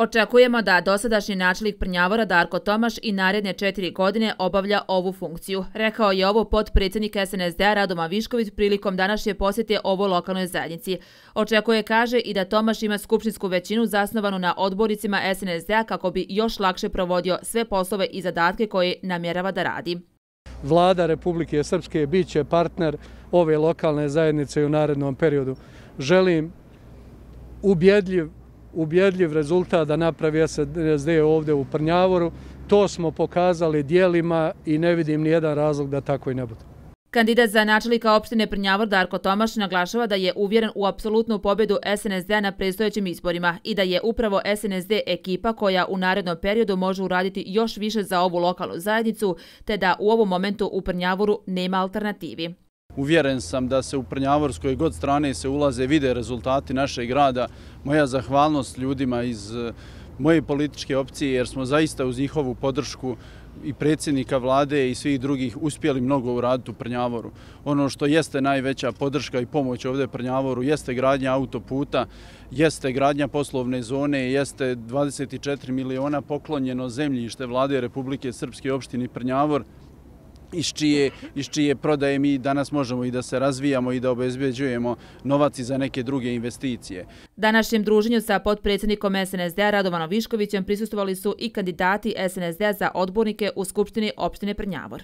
Očekujemo da dosadašnji načelnik Prnjavora Darko Tomaš i naredne 4 godine obavlja ovu funkciju. Rekao je ovo potpredsjednik SNSD-a Radovan Višković prilikom današnje posjete ovoj lokalnoj zajednici. Očekuje, kaže, i da Tomaš ima skupštinsku većinu zasnovanu na odbornicima SNSD-a kako bi još lakše provodio sve poslove i zadatke koje namjerava da radi. Vlada Republike Srpske bit će partner ove lokalne zajednice u narednom periodu. Želim ubjedljiv rezultat da napravi SNSD ovdje u Prnjavoru. To smo pokazali djelima i ne vidim nijedan razlog da tako i ne bude. Kandidat za načelnika opštine Prnjavor Darko Tomaš naglašava da je uvjeren u apsolutnu pobjedu SNSD-a na predstojećim izborima i da je upravo SNSD ekipa koja u narednom periodu može uraditi još više za ovu lokalnu zajednicu, te da u ovom momentu u Prnjavoru nema alternativi. Uvjeren sam da se u Prnjavorskoj god strane se ulaze vide rezultati našeg grada. Moja zahvalnost ljudima iz moje političke opcije jer smo zaista uz njihovu podršku i predsjednika vlade i svih drugih uspjeli mnogo uraditi u Prnjavoru. Ono što jeste najveća podrška i pomoć ovdje Prnjavoru jeste gradnja autoputa, jeste gradnja poslovne zone, jeste 24 miliona poklonjeno zemljište vlade Republike Srpske opštini Prnjavor, iz čije prodaje mi danas možemo i da se razvijamo i da obezbeđujemo novac i za neke druge investicije. Današnjem druženju sa potpredsjednikom SNSD-a Radovanom Viškovićem prisustvovali su i kandidati SNSD-a za odbornike u Skupštini opštine Prnjavor.